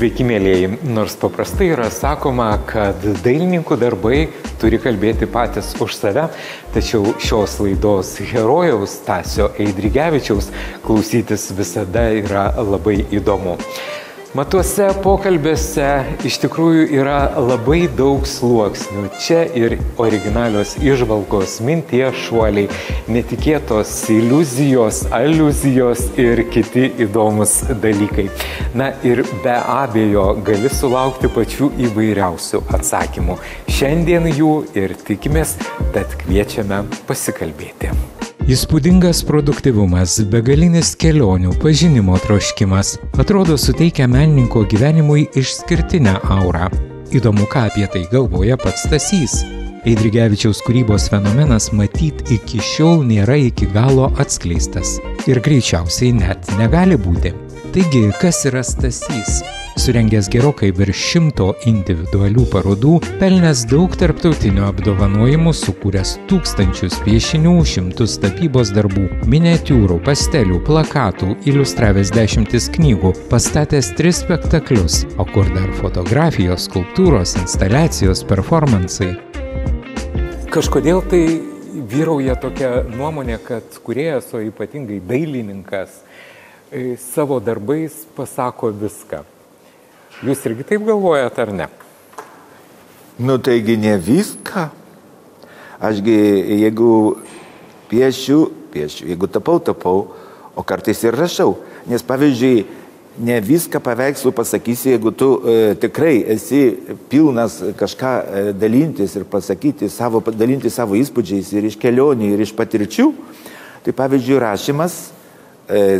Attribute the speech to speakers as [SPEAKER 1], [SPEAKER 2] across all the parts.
[SPEAKER 1] Sveiki, mėlyjeji. Nors paprastai yra sakoma, kad dailininkų darbai turi kalbėti patys už save, tačiau šios laidos herojaus Stasio Eidrigevičiaus klausytis visada yra labai įdomu. Matuose pokalbėse iš tikrųjų yra labai daug sluoksnių. Čia ir originalios įžvalgos, minties šuoliai, netikėtos iliuzijos, aliuzijos ir kiti įdomus dalykai. Na ir be abejo gali sulaukti pačių įvairiausių atsakymų. Šiandien jų ir tikimės, tad kviečiame pasikalbėti. Įspūdingas produktyvumas, begalinis kelionių, pažinimo troškimas atrodo suteikia menininko gyvenimui išskirtinę aurą. Įdomu, ką apie tai galvoja pats Stasys. Eidrigevičiaus kūrybos fenomenas matyt iki šiol nėra iki galo atskleistas ir greičiausiai net negali būti. Taigi, kas yra Stasys? Surengęs gerokai virš 100 individualių parodų, pelnęs daug tarptautinių apdovanojimų, sukūręs tūkstančius piešinių, 100 tapybos darbų, miniatiūrų, pastelių, plakatų, iliustravęs 10 knygų, pastatęs 3 spektaklius, o kur dar fotografijos, skulptūros, instaliacijos, performansai. Kažkodėl tai vyrauja tokia nuomonė, kad kūrėjas, o ypatingai dailininkas, savo darbais pasako viską. Jūs irgi taip galvojat, ar ne?
[SPEAKER 2] Nu, taigi ne viską. Ašgi, jeigu piešiu, jeigu tapau, o kartais ir rašau. Nes, pavyzdžiui, ne viską paveikslų pasakysi, jeigu tu tikrai esi pilnas kažką dalintis ir pasakyti, dalinti savo įspūdžiais ir iš kelionių, ir iš patirčių. Tai, pavyzdžiui, rašymas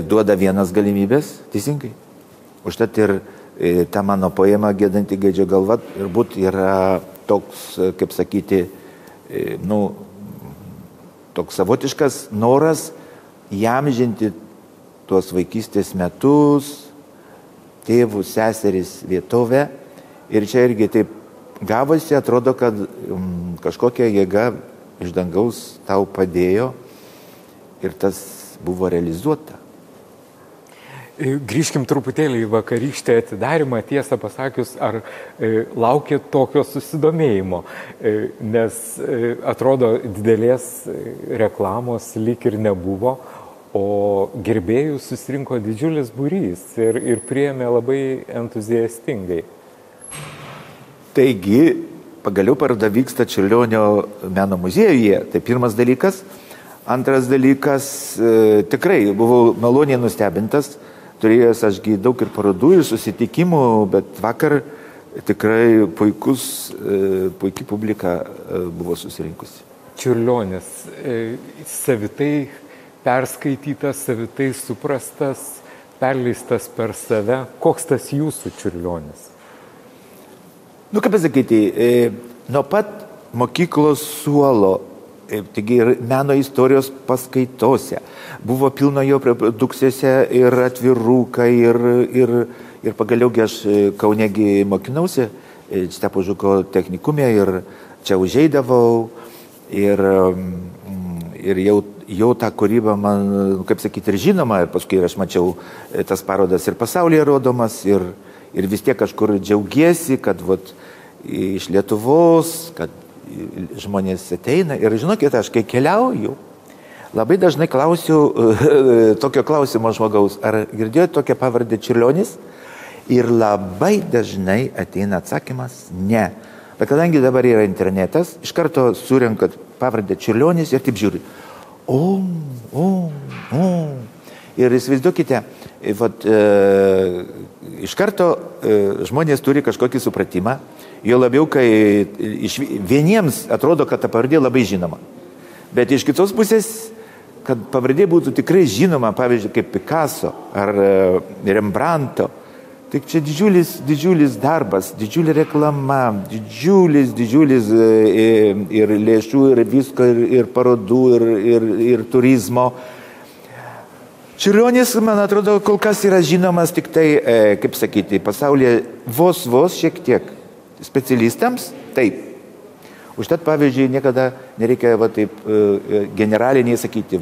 [SPEAKER 2] duoda vienas galimybės, teisingai. Užtat ir ta mano poema Gėdanti gaidžio galva turbūt yra toks, kaip sakyti, toks savotiškas noras įamžinti tuos vaikystės metus, tėvus, seseris, vietovę. Ir čia irgi taip gavosi, atrodo, kad kažkokia jėga iš dangaus tau padėjo ir tas buvo realizuota.
[SPEAKER 1] Grįžkim truputėlį į vakarykštę atidarimą, tiesą pasakius, ar laukia tokio susidomėjimo, nes atrodo didelės reklamos lyg ir nebuvo, o gerbėjų susirinko didžiulis būrys ir priėmė labai entuziastingai.
[SPEAKER 2] Taigi, pagaliau paroda vyksta Čiurlionio meno muziejuje, tai pirmas dalykas. Antras dalykas, tikrai buvau maloniai nustebintas. Turėjęs ašgi daug ir parodų, ir susitikimų, bet vakar tikrai puikiai publika buvo susirinkusi.
[SPEAKER 1] Čiurlionis, savitai perskaitytas, savitai suprastas, perleistas per save. Koks tas jūsų Čiurlionis?
[SPEAKER 2] Nu, kaip pasakyti, nuo pat mokyklos suolo, taigi ir meno istorijos paskaitose. Buvo pilno jo reprodukcijose ir atvirukai, ir pagaliaugi aš Kaunegi mokinausi, Stepo Žuko technikume, ir čia užeidavau, ir jau tą kūrybą man, kaip sakyti, ir žinoma, ir paskui aš mačiau tas parodas ir pasaulyje rodomas, ir vis tiek kažkur džiaugiesi, kad iš Lietuvos, kad žmonės ateina. Ir žinokit, aš kai keliauju, labai dažnai klausiu tokio klausimo žmogaus, ar girdėjote tokią pavardę Čiurlionis? Ir labai dažnai ateina atsakymas ne. Bet kadangi dabar yra internetas, iš karto surenkat pavardę Čiurlionis ir taip žiūri. Ir įsivaizduokite, iš karto žmonės turi kažkokį supratimą, jo labiau, kai vieniems atrodo, kad ta pavardė labai žinoma. Bet iš kitos pusės, kad pavardė būtų tikrai žinoma, pavyzdžiui, kaip Picasso ar Rembrandto, tai čia didžiulis darbas, didžiulė reklama, didžiulis ir lėšų, ir visko, ir parodų, ir turizmo. Čiurlionis, man atrodo, kol kas yra žinomas tik tai, kaip sakyti, pasaulyje vos šiek tiek. Specialistams taip. Užtat, pavyzdžiui, niekada nereikia taip generaliniai sakyti,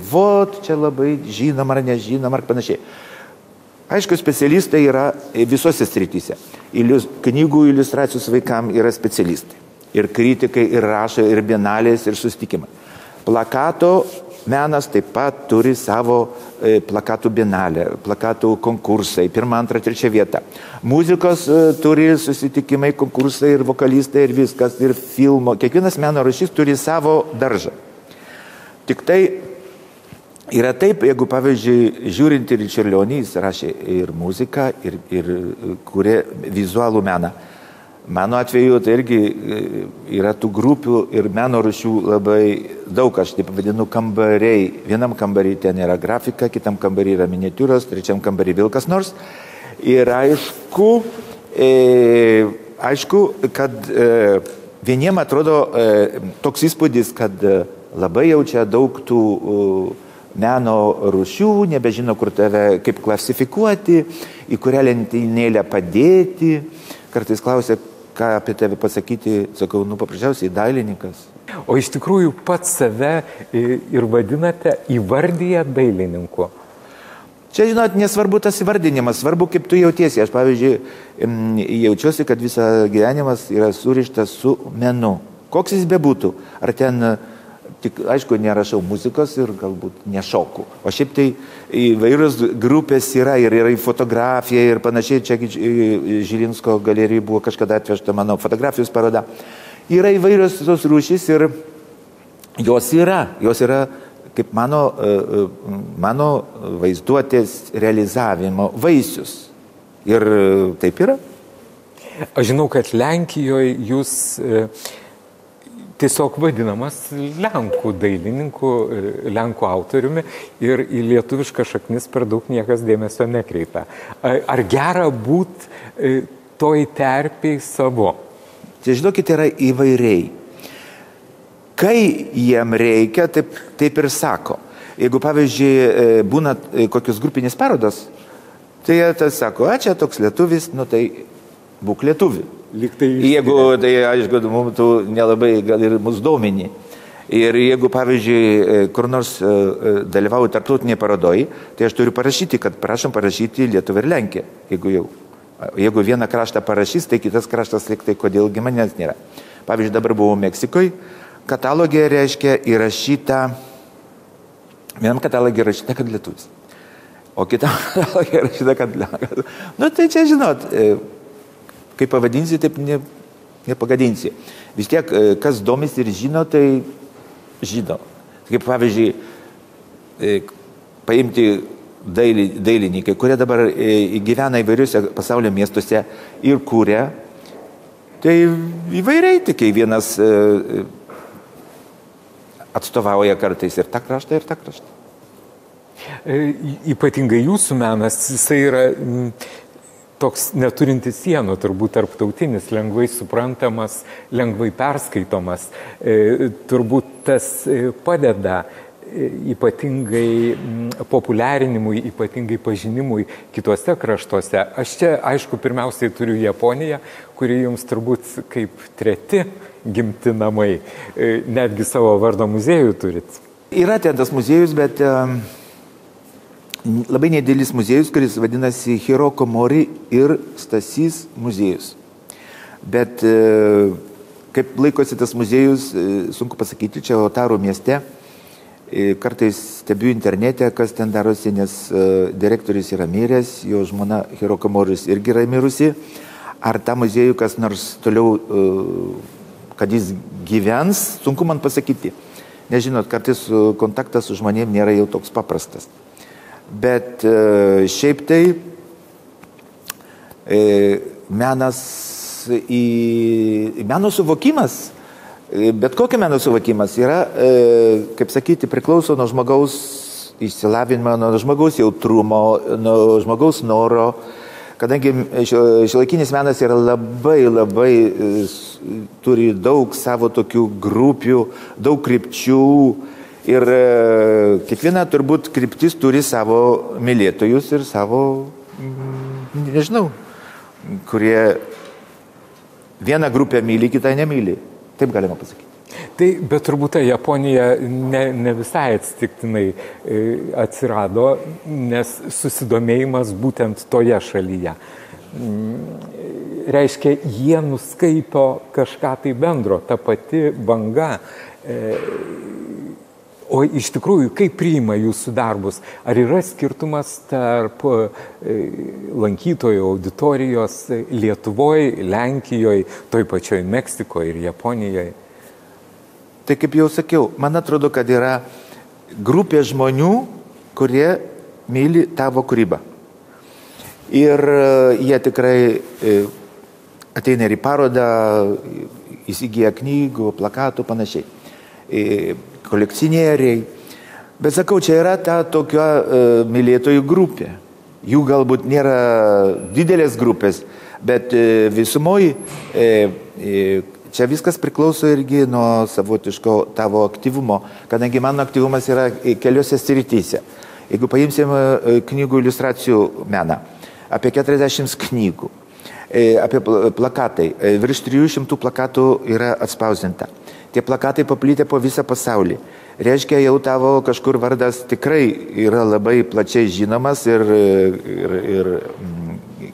[SPEAKER 2] čia labai žinom ar nežinom ar panašiai. Aišku, specialistai yra visose srityse. knygų iliustracijos vaikams yra specialistai. Ir kritikai, ir rašo, ir bienalės, ir susitikimai. Plakato menas taip pat turi savo plakatų bienalę, plakatų konkursai, 1, 2, 3 vieta. Muzikos turi susitikimai, konkursai ir vokalistai, ir viskas, ir filmo. Kiekvienas meno rūšis turi savo daržą. Tik tai yra taip, jeigu, pavyzdžiui, žiūrint ir Čiurlionį, jis rašė ir muziką, ir kūrė vizualų meną. Mano atveju tai irgi yra tų grupių ir meno rūšių labai daug, aš taip vadinu kambariai. Vienam kambarį ten yra grafika, kitam kambarį yra miniatiūros, trečiam kambarį vėl kas nors. Ir aišku, kad vieniem atrodo toks įspūdis, kad labai jaučia daug tų meno rūšių, nebežino, kur tave kaip klasifikuoti, į kurią lentynėlę padėti. Kartais klausia, ką apie tave pasakyti, sakau, paprasčiausiai dailininkas.
[SPEAKER 1] O iš tikrųjų pats save ir vadinate, įvardyje dailininku.
[SPEAKER 2] Čia, žinot, nesvarbu tas įvardinimas, svarbu, kaip tu jautiesi. Aš, pavyzdžiui, jaučiuosi, kad visą gyvenimas yra surištas su menu. Koks jis bebūtų. Ar ten, tik, aišku, nerašau muzikos ir galbūt nešoku. O šiaip tai įvairios grupės yra ir fotografija ir panašiai. Čia Žilinsko galerijai buvo kažkada atvežta mano fotografijos paroda. Yra įvairios tos rūšys ir jos yra kaip mano vaizduotės realizavimo vaisius. Ir taip yra.
[SPEAKER 1] Aš žinau, kad Lenkijoje jūs tiesiog vadinamas Lenkų dailininku, Lenkų autoriumi ir į lietuvišką šaknis per daug niekas dėmesio nekreipia. Ar gera būti toj terpiai savo?
[SPEAKER 2] Tai žinokit, yra įvairiai. Kai jiem reikia, taip ir sako. Jeigu, pavyzdžiui, būna kokios grupinės parodos, tai jie sako, čia toks lietuvis, tai būk lietuvi. Jeigu, tai aišku, mums tu nelabai gal ir mus domini. Ir jeigu, pavyzdžiui, kur nors dalyvauju tarptautinėje parodoje, tai aš turiu parašyti, kad prašom parašyti Lietuvą ir Lenkiją. Jeigu vieną kraštą parašys, tai kitas kraštas liktai, kodėlgi manęs nėra. Pavyzdžiui, dabar buvau Meksikoje, katalogė reiškia įrašyta, vienam katalogė įrašyta, kad lietuvis. O kitam katalogė įrašyta, kad lenkas. Tai čia, žinot, kaip pavadinsi, taip nepagadinsi. Vis tiek, kas domisi ir žino, tai žino. Kaip pavyzdžiui, paimti dailininkai, kurie dabar gyvena įvairiuose pasaulio miestuose ir kuria, tai įvairiai, tik vienas atstovauja kartais ir tą kraštą, ir tą kraštą.
[SPEAKER 1] Ypatingai jūsų menas, jisai yra toks neturintis sienų, turbūt tarptautinis, lengvai suprantamas, lengvai perskaitomas. Turbūt tas padeda ypatingai populiarinimui, ypatingai pažinimui kitose kraštuose. Aš čia, aišku, pirmiausiai turiu Japoniją, kuri jums turbūt kaip treti gimti namai. Netgi savo vardo muziejų turit.
[SPEAKER 2] Yra ten tas muziejus, bet labai nedėlis muziejus, kuris vadinasi Hiroko Mori ir Stasys muziejus. Bet kaip laikosi tas muziejus, sunku pasakyti, čia Otaro mieste. Kartais stebiu internete, kas ten darosi, nes direktorius yra miręs, jo žmona Hiroko Moris irgi yra mirusi. Ar tą muziejų kas nors toliau, kad jis gyvens, sunku man pasakyti. Nežinot, kartais kontaktas su žmonėm nėra jau toks paprastas. Bet šiaip tai meno suvokimas, bet kokio meno suvokimas yra, kaip sakyti, priklauso nuo žmogaus išsilavinimo, nuo žmogaus jautrumo, nuo žmogaus noro. Kadangi šiuolaikinis menas yra labai turi daug savo tokių grupių, daug krypčių ir kiekviena turbūt kryptis turi savo mylėtojus ir savo, nežinau, kurie vieną grupę myli, kitą nemyli. Taip galima pasakyti.
[SPEAKER 1] Tai, bet turbūt ta Japonija ne visai atsitiktinai atsirado, nes susidomėjimas būtent toje šalyje. reiškia, jie nuskaito kažką tai bendro, ta pati banga. O iš tikrųjų, kaip priima jūsų darbus? Ar yra skirtumas tarp lankytojų auditorijos Lietuvoje, Lenkijoje, toj pačioj Meksikoje ir Japonijoje?
[SPEAKER 2] Tai kaip jau sakiau, man atrodo, kad yra grupė žmonių, kurie myli tavo kūrybą. Ir jie tikrai ateina ir į parodą, įsigyja knygų, plakatų, panašiai. Kolekcionieriai. Bet sakau, čia yra ta tokia mylėtojų grupė. Jų galbūt nėra didelės grupės, bet visumoje čia viskas priklauso irgi nuo savotiško tavo aktyvumo, kadangi mano aktyvumas yra keliose srityse. Jeigu paimsim knygų iliustracijų meną, apie 40 knygų, apie plakatai, virš 300 plakatų yra atspausdinta. Tie plakatai paplitę po visą pasaulį. Reiškia, jau tavo kažkur vardas tikrai yra labai plačiai žinomas ir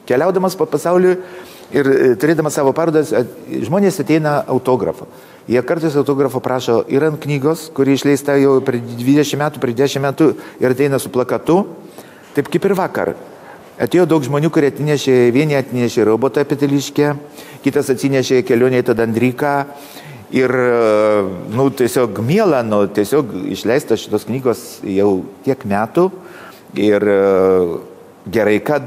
[SPEAKER 2] keliaudamas po pasaulį ir turėdamas savo parodas, žmonės ateina autografo. Jie kartais autografo prašo ir ant knygos, kuri išleista jau per 20 metų, per 10 metų ir ateina su plakatu, taip kaip ir vakar. Atėjo daug žmonių, kurie atnešė, vieni atnešė robotą peteliškę, kitas atsinešė kelionę į Tadandriką. Ir, tiesiog miela, tiesiog išleista šitos knygos jau tiek metų ir gerai, kad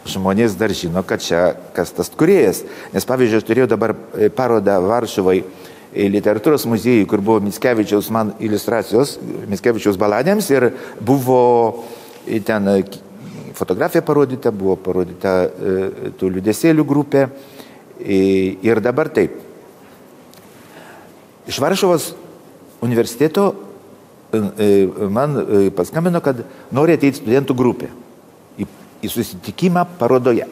[SPEAKER 2] žmonės dar žino, kad čia kas tas kūrėjas. Nes pavyzdžiui, aš turėjau dabar parodą Varšuvai literatūros muziejui, kur buvo Mickevičiaus man iliustracijos, Mickevičiaus baladėms ir buvo ten fotografija parodyta, buvo parodyta tų liūdesėlių grupė ir dabar taip. Iš Varšuvos universiteto man paskambino, kad nori ateiti studentų grupė į susitikimą parodoje.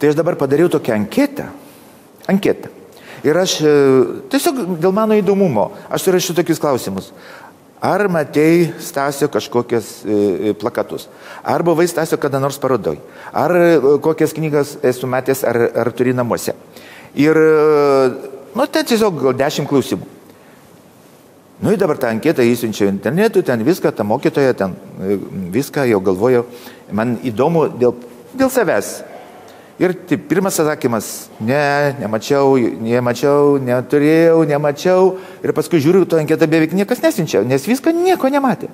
[SPEAKER 2] Tai aš dabar padariau tokią anketą. Ir aš tiesiog dėl mano įdomumo, aš surašiau tokius klausimus. Ar matei Stasio kažkokias plakatus? Ar buvai Stasio kada nors parodoj? Ar kokias knygas esu matęs, ar turi namuose? Ir ten tiesiog gal 10 klausimų. Ir dabar tą anketą įsiunčiau internetu, ten viską, ta mokytoja, ten viską jau galvojau. Man įdomu dėl savęs. Ir taip, pirmas atsakymas, nemačiau, neturėjau. Ir paskui žiūriu, to anketą beveik niekas nesiunčia, nes viską nieko nematė.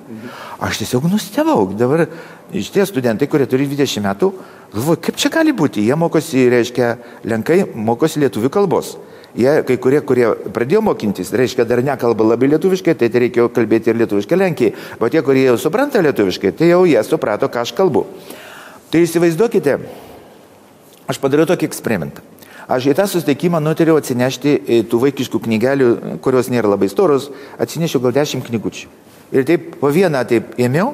[SPEAKER 2] Aš tiesiog nustebau. Dabar šitie studentai, kurie turi 20 metų, galvoju, kaip čia gali būti. Jie mokosi, reiškia, lenkai mokosi lietuvių kalbos. Jie, kai kurie pradėjo mokintis, reiškia, dar nekalba labai lietuviškai, tai reikėjo kalbėti ir lietuviškai Lenkijai. O tie, kurie jau supranta lietuviškai, tai jau jie suprato, ką aš kalbu. Tai įsivaizduokite, aš padariau tokį eksperimentą. Aš į tą susitikimą nutariau atsinešti tų vaikiškų knygelių, kurios nėra labai storos, atsinešiau gal 10 knygučių. Ir taip po vieną taip ėmiau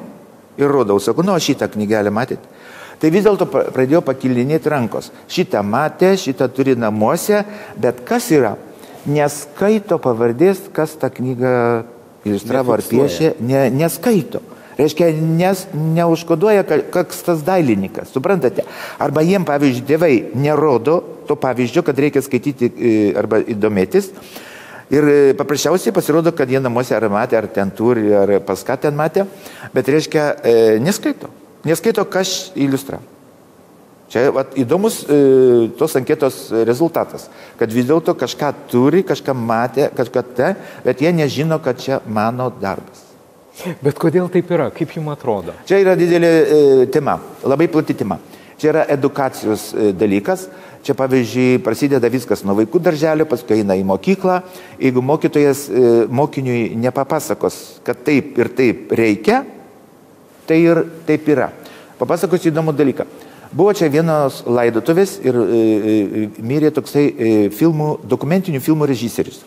[SPEAKER 2] ir rodau, sakau, šitą knygelę matėt. Tai vis dėlto pradėjo pakilinėti rankos. Šitą matė, šitą turi namuose, bet kas yra? Neskaito pavardės, kas tą knygą iliustravo ar piešė, neskaito. Reiškia, neužkoduoja, kas tas dailininkas, suprantate? Arba jiem, pavyzdžiui, tėvai nerodo to pavyzdžio, kad reikia skaityti arba įdomėtis. Ir paprasčiausiai pasirodo, kad jie namuose ar matė, ar ten turi, ar pas ką ten matė, bet reiškia, neskaito. Neskaito, kas iliustravo. Čia įdomus tos anketos rezultatas, kad vis dėlto kažką turi, kažką matė, kažką bet jie nežino, kad čia mano darbas.
[SPEAKER 1] Bet kodėl taip yra? Kaip jums atrodo?
[SPEAKER 2] Čia yra didelė tema, labai plati tema. Čia yra edukacijos dalykas. Čia, pavyzdžiui, prasideda viskas nuo vaikų darželio, paskui eina į mokyklą. Jeigu mokytojas mokiniui nepapasakos, kad taip ir taip reikia, tai ir taip yra. Papasakosiu įdomų dalyką. Buvo čia vienos laidotuvės ir mirė toksai dokumentinių filmų režisierius.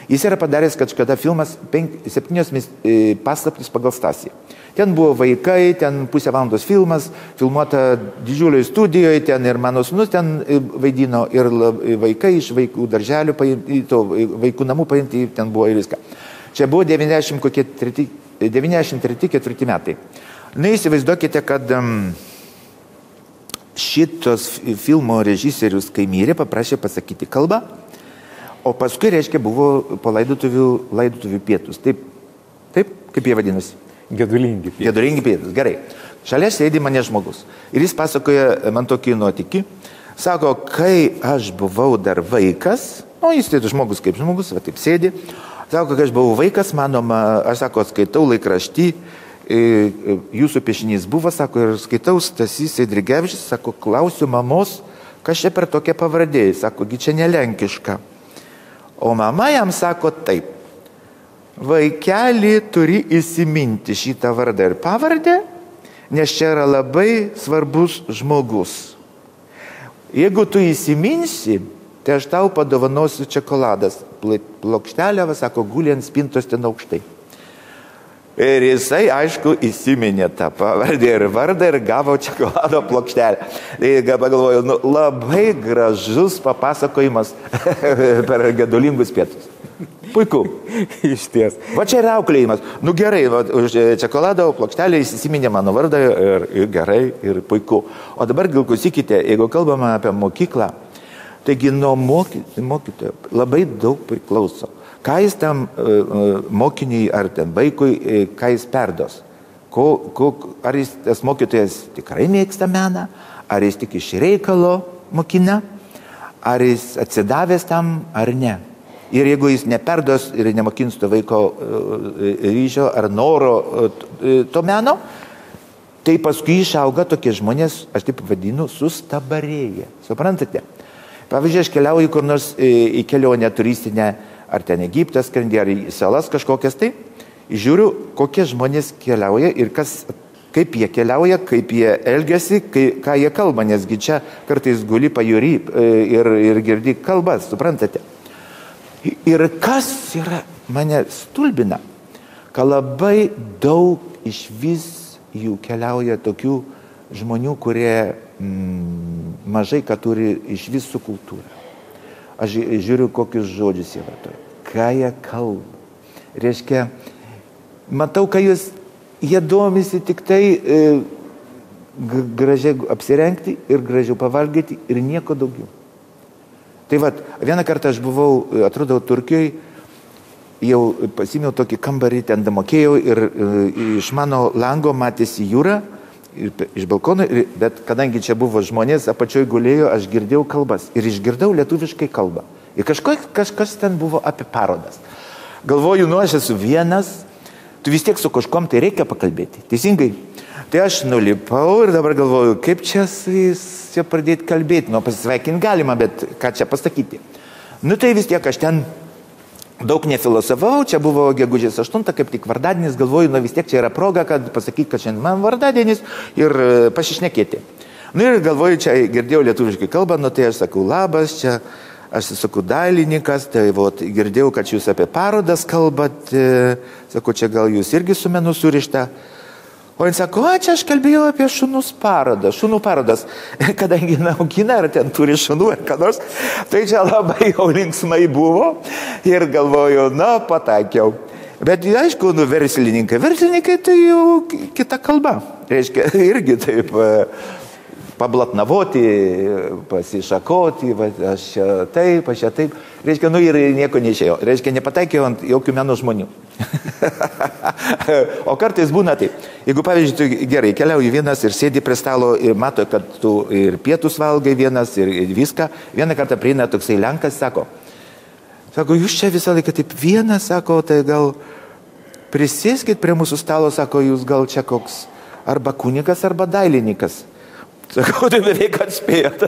[SPEAKER 2] Jis yra padaręs kažkada filmas 7 paslaptys pagal Stasiją. Ten buvo vaikai, ten pusę valandos filmas, filmuota didžiulioje studijoje, ten ir mano sūnus ten vaidino, ir vaikai iš vaikų darželių paimti, vaikų namų paimti, ten buvo ir viską. Čia buvo 93-4 metai. Įsivaizduokite, kad šitos filmo režisierius, kai mirė, paprašė pasakyti kalbą, o paskui, reiškia, buvo po laidotuvių pietus. Taip, kaip jie vadinasi?
[SPEAKER 1] Gedulingi pietus.
[SPEAKER 2] Gedulingi pietus, gerai. Šalia sėdi mane žmogus. Ir jis pasakoja man tokį nuotykį. Sako, kai aš buvau dar vaikas, jis tai žmogus kaip žmogus, va taip sėdi. Sako, kai aš buvau vaikas, aš sako, skaitau laikraštį, jūsų piešinys buvo, sako, ir skaitau Stasys Eidrigevičius, sako, klausiu mamos, kas čia per tokia pavardė, sako, gi čia nelenkiška. O mama jam sako taip, vaikeli turi įsiminti šitą vardą ir pavardę, nes čia yra labai svarbus žmogus. Jeigu tu įsiminsi, tai aš tau padovanosiu čekoladas. Plokštelė, sako, guli ant spintos ten aukštai. Ir jisai, aišku, įsiminė tą pavardę ir vardą ir gavo čekolado plokštelę. Tai pagalvoju, labai gražus papasakojimas per gedulingus pietus. Puiku.
[SPEAKER 1] Iš ties.
[SPEAKER 2] Va čia yra auklėjimas. Gerai, už čekolado plokštelę įsiminė mano vardą ir gerai, ir puiku. O dabar gal klausykite, jeigu kalbame apie mokyklą, taigi nuo mokytojo labai daug priklauso. Ką jis tam mokiniui ar tam vaikui, ką jis perdos? Ar jis, tas mokytojas tikrai mėgsta meną, ar jis tik iš reikalo mokina, ar jis atsidavęs tam, ar ne. Ir jeigu jis neperdos ir nemokins to vaiko ryšio ar noro to meno, tai paskui išauga tokie žmonės, aš taip vadinu, sustabarėję. Suprantate? Pavyzdžiui, aš keliauju kur nors į kelionę turistinę, ar ten Egiptas, skrendi, ar į salas kažkokias, tai žiūriu, kokie žmonės keliauja ir kaip jie keliauja, kaip jie elgiasi, ką jie kalba, nesgi čia kartais guli pajūry ir girdi kalbas, suprantate? Ir kas yra mane stulbina, kad labai daug iš vis jų keliauja tokių žmonių, kurie mažai ką turi iš vis su kultūra. Aš žiūriu, kokius žodžius jie vartoja, ką jie kalba. Reiškia, matau, kad jie domisi tik tai gražiai apsirengti ir gražiau pavalgyti ir nieko daugiau. Tai vat, vieną kartą aš buvau, atrodau, Turkijoje, jau pasimėjau tokį kambarį, ten damokėjau ir iš mano lango matėsi jūra, iš balkono, bet kadangi čia buvo žmonės, apačioj gulėjo, aš girdėjau kalbas ir išgirdau lietuviškai kalbą. Ir kažkas ten buvo apie parodas. Galvoju, aš esu vienas, tu vis tiek su kažkom tai reikia pakalbėti, teisingai. Tai aš nulipau ir dabar galvoju, kaip čia su jais pradėti kalbėti. Pasisveikinti galima, bet ką čia pasakyti. Tai vis tiek aš ten daug nefilosofavau, čia buvo gegužės 8, kaip tik vardadienis, galvoju, vis tiek čia yra proga, kad pasakyti, kad šiandien man vardadienis ir pasišnekėti. Ir galvoju, čia girdėjau lietuviškai kalbą, tai aš sakau, labas, čia aš sakau, dailininkas, tai girdėjau, kad jūs apie parodas kalbat, sakau, čia gal jūs irgi su menu surišta. O jis sako, čia aš kalbėjau apie šunų parodas, kadangi naukina, ar ten turi šunų, ar ką nors, tai čia labai jau linksmai buvo ir galvoju, pataikiau. Bet aišku, verslininkai tai jau kita kalba, reiškia, irgi taip pablatnavoti, pasišakoti, aš čia taip, reiškia, ir nieko neišėjo, reiškia, nepataikiau ant jokių meno žmonių. O kartais būna taip, jeigu, pavyzdžiui, tu gerai keliauji vienas ir sėdi prie stalo ir mato, kad tu ir pietus valgai vienas ir viską, vieną kartą prieina toksai lenkas, sako, jūs čia visą laiką taip vienas, sako, tai gal prisėskit prie mūsų stalo, sako, jūs gal čia koks arba kunigas, arba dailininkas. Sakau, tai beveik atspėjot.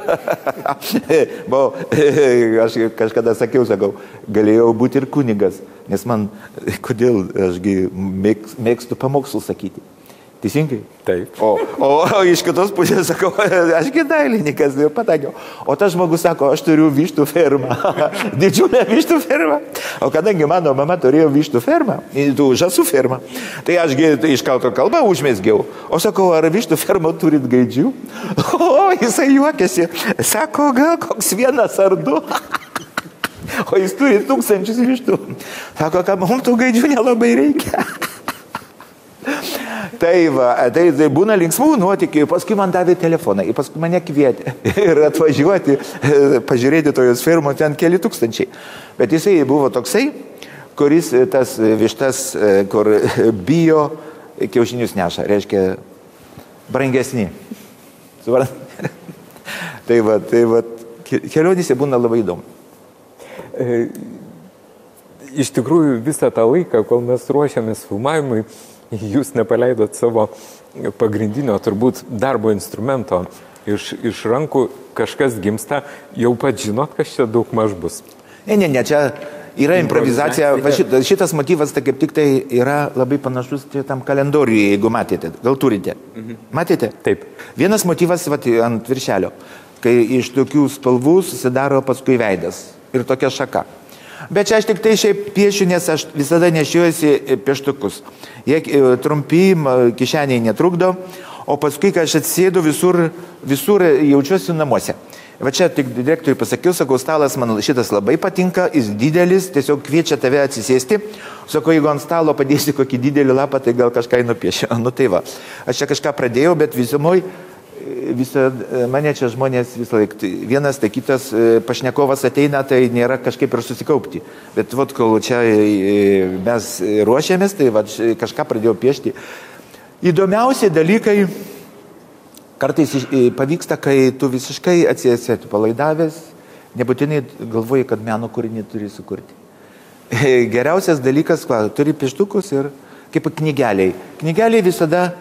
[SPEAKER 2] Aš kažkada sakiau, galėjau būti ir kunigas, nes man, kodėl ašgi mėgstu pamokslų sakyti. Teisingai?
[SPEAKER 1] Taip.
[SPEAKER 2] O iš kitos pusės sakau, ašgi dailininkas, pataikiau. O tas žmogus sako, aš turiu vištų fermą, didžiulę vištų fermą. O kadangi mano mama turėjo vištų fermą, žąsų fermą, tai ašgi iš karto kalbą užmesgiau. O sakau, ar vištų fermą turit gaidžių? O jisai juokėsi, sako, gal koks vienas ar du. O jis turi 1000 vištų. Sako, kad mums tų gaidžių nelabai reikia. Tai būna linksmų nuotykių, paskui man davė telefoną, paskui mane kvietė ir atvažiuoti, pažiūrėti tojos firmos, ten keli tūkstančiai. Bet jisai buvo toksai, kuris tas vištas, kur bijo, kiaušinius neša, reiškia brangesni. Tai va, kelionėse būna labai įdomu.
[SPEAKER 1] Iš tikrųjų, visą tą laiką, kol mes ruošiamės filmavimui, jūs nepaleidot savo pagrindinio, turbūt, darbo instrumento iš rankų, kažkas gimsta, jau pat žinot, kas čia daug maž bus.
[SPEAKER 2] Ne, čia yra improvizacija. Šitas motyvas, tai kaip tik tai yra labai panašus tam kalendoriui, jeigu matėte. Gal turite? Matėte?
[SPEAKER 1] Taip.
[SPEAKER 2] Vienas motyvas ant viršelio, kai iš tokių spalvų susidaro paskui veidas ir tokia šaka. Bet čia aš tik tai šiaip piešiu, nes aš visada nešiojuosi pieštukus. Jie trumpi, kišeniai netrukdo, o paskui, kai aš atsėdu, visur jaučiuosi namuose. Va čia tik direktoriui pasakiau, sakau, stalas man šitas labai patinka, jis didelis, tiesiog kviečia tave atsisėsti. Sakau, jeigu ant stalo padėsi kokį didelį lapą, tai gal kažką nupiešiu. Nu tai va, aš čia kažką pradėjau, bet visumoj, mane čia žmonės visą laiką, vienas, tai kitas pašnekovas ateina, tai nėra kažkaip ir susikaupti. Bet vat, kol čia mes ruošiamės, tai vat, kažką pradėjau piešti. Įdomiausi dalykai kartais pavyksta, kai tu visiškai atsiesi palaidavęs, nebūtinai galvoji, kad meno kūrinį turi sukurti. Geriausias dalykas, turi pieštukus ir kaip knygeliai. Knygeliai visada,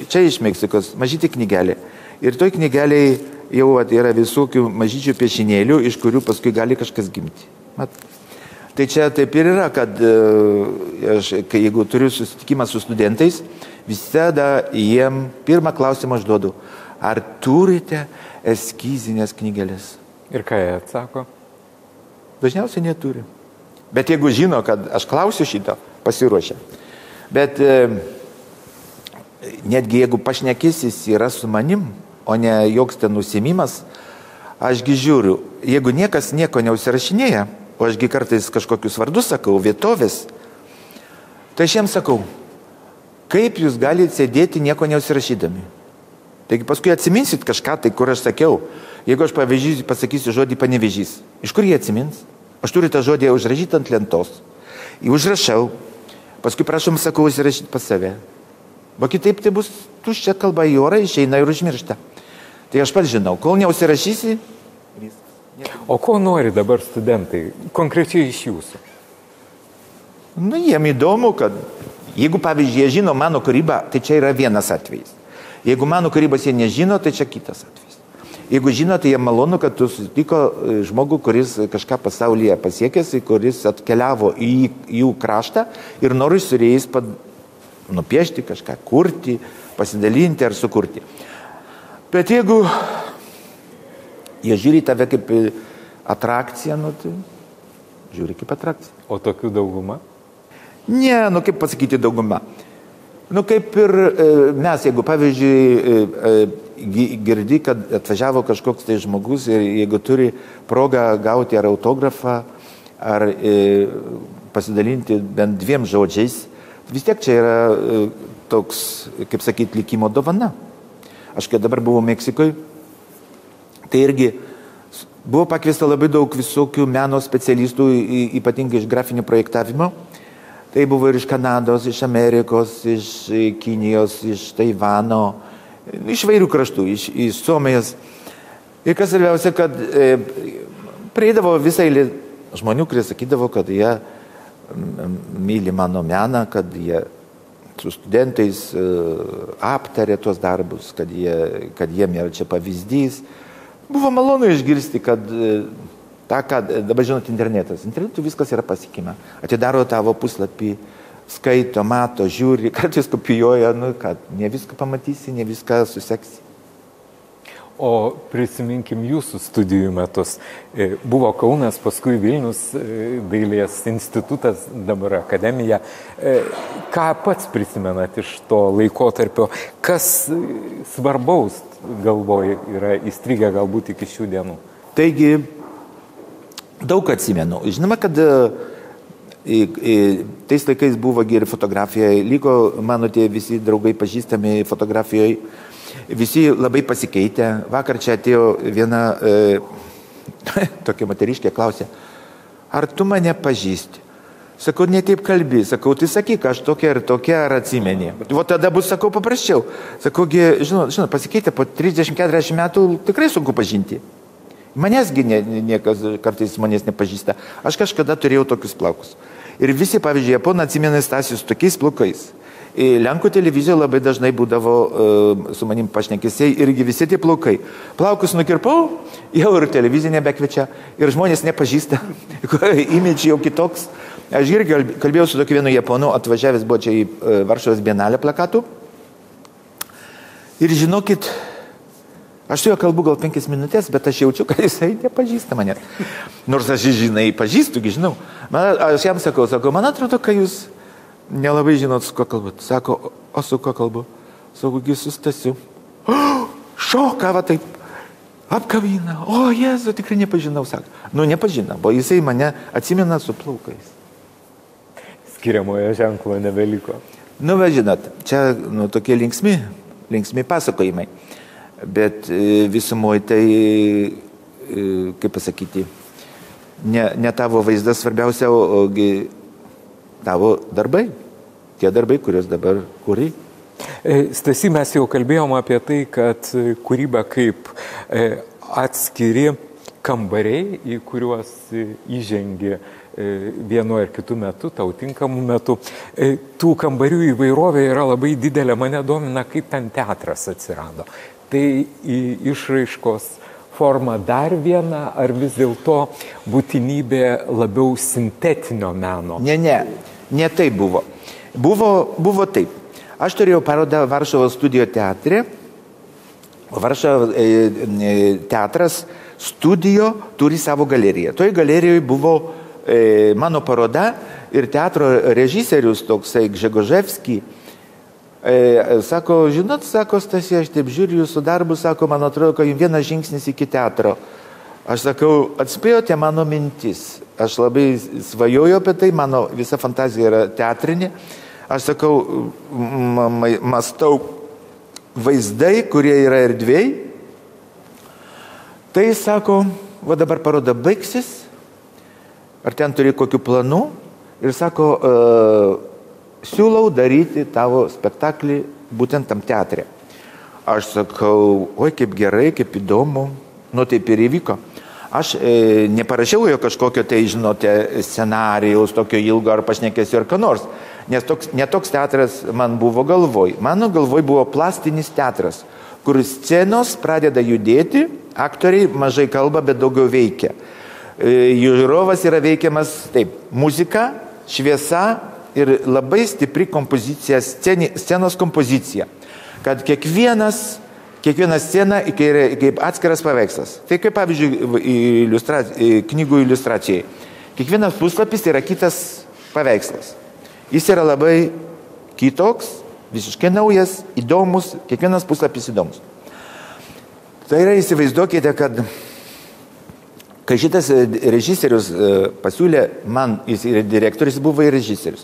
[SPEAKER 2] čia iš Meksikos, mažyti knygelė. Ir toj knygeliai jau yra visokių mažyčių piešinėlių, iš kurių paskui gali kažkas gimti. Tai čia taip ir yra, kad jeigu turiu susitikimą su studentais, visada jiem pirmą klausimą aš duodu, ar turite eskizinės knygelės?
[SPEAKER 1] Ir ką jie atsako?
[SPEAKER 2] Dažniausiai neturi. Bet jeigu žino, kad aš klausiu šito, pasiruošia. Bet netgi jeigu pašnekysis yra su manim, o ne joks ten užsiėmimas, ašgi žiūriu, jeigu niekas nieko neusirašinėja, o ašgi kartais kažkokius vardus sakau, vietovės, tai aš jiems sakau, kaip jūs galite sėdėti nieko neusirašydami. Taigi paskui atsiminsit kažką, tai kur aš sakiau, jeigu aš pasakysiu žodį Panevėžys, iš kur jie atsimins? Aš turiu tą žodį užrašyti ant lentos. Jį užrašau, paskui prašom, sakau, užsirašyti pas save. O kitaip tai bus tuščia kalba į orą, išeina ir užmiršta. Tai aš pats žinau, kol neužsirašysi, viskas.
[SPEAKER 1] O ko nori dabar studentai, konkrečiai iš jūsų?
[SPEAKER 2] Nu, jiem įdomu, kad jeigu, pavyzdžiui, jie žino mano kūrybą, tai čia yra vienas atvejis. Jeigu mano kūrybos jie nežino, tai čia kitas atvejis. Jeigu žino, tai jie malonu, kad tu susitiko žmogų, kuris kažką pasaulyje pasiekęs, kuris atkeliavo į jų kraštą ir nori su jais nupiešti kažką, kurti, pasidalinti ar sukurti. Bet jeigu jie žiūri tave kaip atrakciją, nu, tai žiūri kaip atrakciją.
[SPEAKER 1] O tokių dauguma?
[SPEAKER 2] Ne, nu kaip pasakyti dauguma. Nu kaip ir mes, jeigu pavyzdžiui girdi, kad atvažiavo kažkoks tai žmogus ir jeigu turi progą gauti ar autografą, ar pasidalinti bent 2 žodžiais, vis tiek čia yra toks, kaip sakyti, likimo dovana. Aš kai dabar buvau Meksikoje, tai irgi buvo pakviesta labai daug visokių meno specialistų, ypatingai iš grafinio projektavimo. Tai buvo ir iš Kanados, iš Amerikos, iš Kinijos, iš Taivano, iš vairių kraštų, iš Suomijos. Ir kas svarbiausia, kad prieidavo visai žmonių, kurie sakydavo, kad jie myli mano meną, kad jie su studentais aptarė tuos darbus, kad jiem yra čia pavyzdys. Buvo malonu išgirsti, kad dabar žinot internetas. Internetu viskas yra pasiekima. Atidaro tavo puslapį, skaito, mato, žiūri, kartais kopijuoja, nu, kad ne viską pamatysi, ne viską suseksi.
[SPEAKER 1] O prisiminkim jūsų studijų metus. Buvo Kaunas, paskui Vilnius, Dailės institutas, dabar akademija. Ką pats prisimenat iš to laikotarpio? Kas svarbaus, galvoju, yra įstrigę galbūt iki šių dienų?
[SPEAKER 2] Taigi, daug atsimenu. Žinoma, kad Tais laikais buvo ir fotografija, liko mano tie visi draugai pažįstami fotografijoje, visi labai pasikeitė. Vakar čia atėjo viena tokia moteriškė, klausė, ar tu mane pažįsti? Sakau, ne taip kalbi, sakau, tai sakyk, aš tokia ir tokia, ar atsimeni. O tada bus, sakau, paprasčiau. Sakau, žinot, pasikeitė, po 30-40 metų tikrai sunku pažinti. Manęsgi niekas kartais manęs nepažįsta. Aš kažkada turėjau tokius plaukus. Ir visi, pavyzdžiui, japonai atsimena Stasį su tokiais plaukais. Lenkų televizijoje labai dažnai būdavo su manim pašnekesiai irgi visi tie plaukai. Plaukus nukirpau, jau ir televizija nebekviečia, ir žmonės nepažįsta, imidž jau kitoks. Aš irgi kalbėjau su tokiu vienu japonu, atvažiavęs buvo čia į Varšuvos bienalę plakatų. Ir žinokit, aš su juo kalbu gal 5 minutės, bet aš jaučiu, kad jisai nepažįsta mane. Nors aš žinai, pažįstu, žinau. Aš jam sakau, man atrodo, kad jūs nelabai žinot, su kuo kalbat. Sako, o su kuo kalbu? Sakau, su Stasiu. Šoka, va taip, apkabina. O, Jėzu, tikrai nepažinau, sako. Nepažinau, o jisai mane atsimena su plaukais.
[SPEAKER 1] Skiriamojo ženklo nebeliko.
[SPEAKER 2] Va, žinot, čia tokie linksmi pasakojimai. Bet visumoje tai, kaip pasakyti, ne tavo vaizdas svarbiausia, ogi tavo darbai, tie darbai, kuriuos dabar kuri.
[SPEAKER 1] Stasy, mes jau kalbėjom apie tai, kad kūryba kaip atskiri kambariai, į kuriuos įžengi vienu ar kitu metu, tau tinkamu metu. Tų kambarių įvairovė yra labai didelė, mane domina, kaip ten teatras atsirado. Tai išraiškos forma dar viena, ar vis dėlto būtinybė labiau sintetinio meno?
[SPEAKER 2] Ne taip buvo. Buvo taip. Aš turėjau parodą Varšuvos studijo teatre. Varšuvos teatras studijo turi savo galeriją. Toj galerijoje buvo mano paroda ir teatro režisierius toksai Gžegoževski. Sako, žinot, sako, Stasi, aš taip žiūriu jūsų darbus, sako, man atrodo, kad jums vienas žingsnis iki teatro. Aš sakau, atspėjote mano mintis. Aš labai svajoju apie tai, mano visa fantazija yra teatrinė. Aš sakau, mąstau vaizdai, kurie yra erdvėj. Tai sako, va dabar paroda baigsis, ar ten turi kokių planų. Ir sako, siūlau daryti tavo spektaklį būtent tam teatre. Aš sakau, oi, kaip gerai, kaip įdomu. Taip ir įvyko. Aš neparašiau jo kažkokio tai, žinote, scenarijaus, tokio ilgo ar pašnekėsiu ar ką nors. Nes netoks teatras man buvo galvoj. Mano galvoj buvo plastinis teatras, kur scenos pradeda judėti, aktoriai mažai kalba, bet daugiau veikia. Žiūrovas yra veikiamas taip, muzika, šviesa ir labai stipri kompozicija, scenos kompozicija. Kad kiekviena scena yra kaip atskiras paveikslas. Tai kaip, pavyzdžiui, knygų iliustracijai. Kiekvienas puslapis yra kitas paveikslas. Jis yra labai kitoks, visiškai naujas, įdomus, kiekvienas puslapis įdomus. Tai yra, įsivaizduokite, kad kai šitas režisierius pasiūlė man, jis yra direktorius, buvo ir režisierius.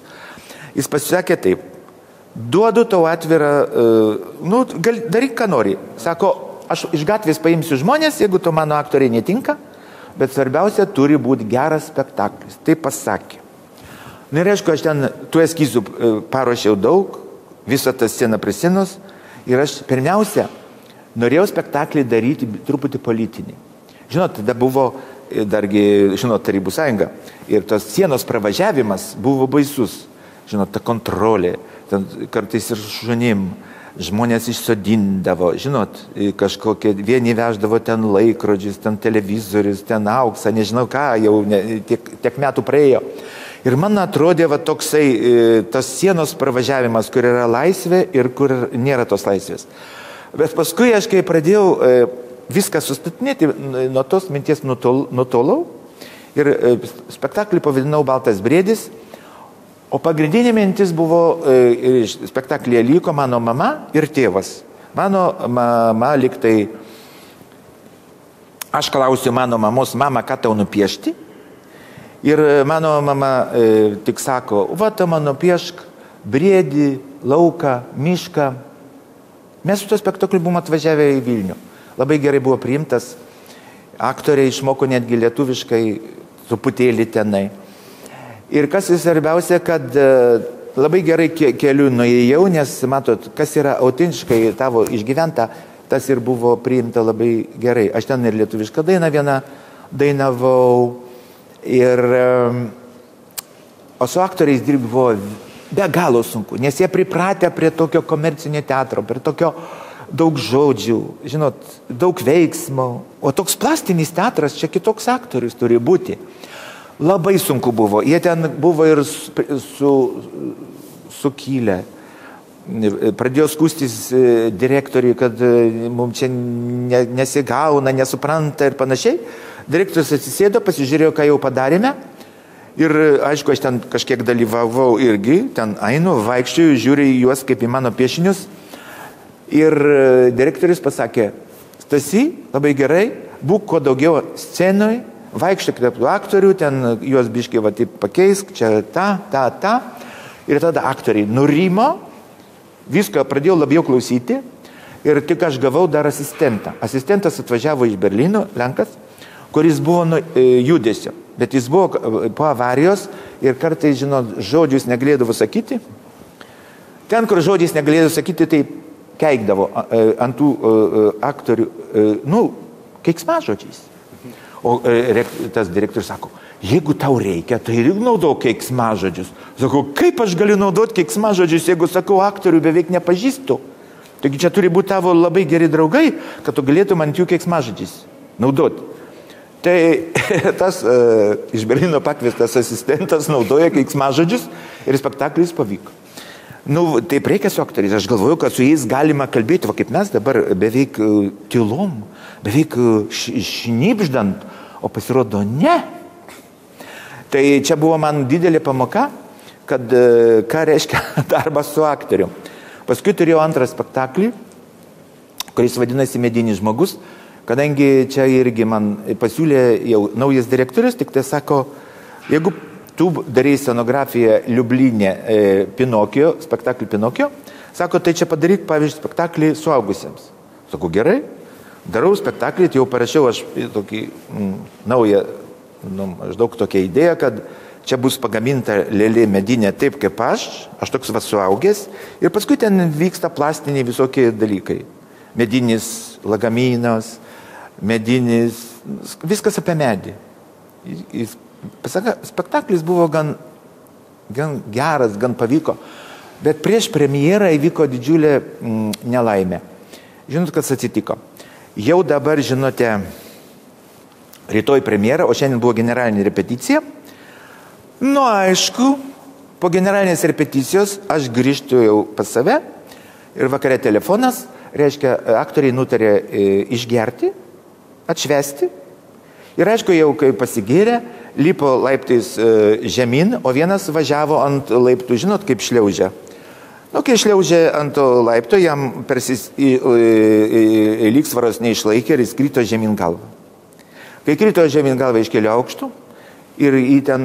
[SPEAKER 2] Jis pasisakė taip, duodu tau atvirą, daryk, ką nori. Sako, aš iš gatvės paimsiu žmonės, jeigu to mano aktoriai netinka, bet svarbiausia, turi būti geras spektaklis. Tai pasakė. Ir aišku, aš ten tų eskizų paruošiau daug, visą tą sceną prie scenos, ir aš pirmiausia norėjau spektaklį daryti truputį politinį. Žinot, tada buvo dargi, Tarybų sąjunga, ir tos sienos pravažiavimas buvo baisus. Žinot, ta kontrolė, ten kartais ir žmonėm, žmonės išsodindavo, žinot, kažkokie, vieni veždavo ten laikrodžius, ten televizorius, ten auksą, nežinau ką, jau tiek metų praėjo. Ir man atrodė va toksai tas sienos pravažiavimas, kur yra laisvė ir kur nėra tos laisvės. Bet paskui aš, kai pradėjau viską sustatinėti, nuo tos minties nutolau ir spektaklį pavadinau Baltas briedis, o pagrindinė mintis buvo, spektaklyje liko mano mama ir tėvas. Mano mama liktai, aš klausiu mano mamos, mama, ką tau nupiešti? Ir mano mama tik sako, va, ta mano piešk briedį, lauką, mišką. Mes su to spektakliu buvom atvažiavę į Vilnių. Labai gerai buvo priimtas. Aktoriai išmoko netgi lietuviškai truputėlį tenai. Ir kas svarbiausia, kad labai gerai keliu nuėjau, nes matot, kas yra autentiškai tavo išgyventa, tas ir buvo priimta labai gerai. Aš ten ir lietuvišką dainą vieną dainavau. O su aktoriais dirbti buvo be galo sunku, nes jie pripratę prie tokio komercinio teatro, prie tokio daug žodžių, žinot, daug veiksmo. O toks plastinis teatras, čia kitoks aktorius turi būti. Labai sunku buvo. Jie ten buvo ir sukilę. Pradėjo skųstis direktoriui, kad mums čia nesigauna, nesupranta ir panašiai. Direktorius atsisėdo, pasižiūrėjo, ką jau padarėme. Ir aišku, aš ten kažkiek dalyvavau irgi, ten einu, vaikščioju, žiūriu į juos kaip į mano piešinius. Ir direktorius pasakė, Stasy, labai gerai, būk kuo daugiau scenoje, vaikščiok tarp tų aktorių, ten juos biškai va taip pakeisk, čia ta. Ir tada aktoriai nurimo, viską pradėjau labiau klausyti ir tik aš gavau dar asistentą. Asistentas atvažiavo iš Berlyno, Lenkas, kuris buvo judesio, bet jis buvo po avarijos ir kartais, žinot, žodžius negalėdavo sakyti. Ten, kur žodžiais negalėdavo sakyti, tai keikdavo ant tų aktorių, keiksmažodžiais. O tas direktorius sako, jeigu tau reikia, tai ir naudok keiksmažodžius. Sakau, kaip aš galiu naudoti keiksmažodžius, jeigu sakau, aktorių beveik nepažįstu. Taigi čia turi būti tavo labai geri draugai, kad tu galėtum ant jų keiksmažodžiais naudoti. Tai tas iš Berlyno pakviestas asistentas naudoja keiksmažodžius ir spektaklis pavyko. Taip reikia su aktoriais. Aš galvoju, kad su jais galima kalbėti, va kaip mes dabar beveik tylom, beveik šnipždant, o pasirodo ne. Tai čia buvo man didelė pamoka, kad ką reiškia darbas su aktoriu. Paskui turėjau antrą spektaklį, kuris vadinasi Medinis žmogus, kadangi čia irgi man pasiūlė jau naujas direktorius, tik tai sako, jeigu tu darai scenografiją Liublinė Pinokio, spektaklį Pinokio, sako, tai čia padaryk, pavyzdžiui, spektaklį suaugusiems. Sakau, gerai, darau spektaklį, tai jau parašiau aš tokį naują, maždaug tokią idėją, kad čia bus pagaminta lėlė medinė taip kaip aš toks va suaugęs, ir paskui ten vyksta plastiniai visokie dalykai. Medinis lagaminas, medinis, viskas apie medį. Spektaklis buvo gan geras, gan pavyko, bet prieš premjerą įvyko didžiulė nelaimė. Žinot, kas atsitiko? Jau dabar, žinote, rytoj premjera, o šiandien buvo generalinė repeticija. Aišku, po generalinės repeticijos aš grįžtu jau pas save ir vakare telefonas, reiškia, aktoriai nutarė išgerti, atšvesti. Ir aišku, jau kai pasigėrė, lipo laiptais žemyn, o vienas važiavo ant laiptų, žinot, kaip šliaužia. Kai šliaužė ant laipto, jam lygsvaros neišlaikė ir jis krito žemyn galvą. Kai krito žemyn galvą iš kelių aukštų ir į ten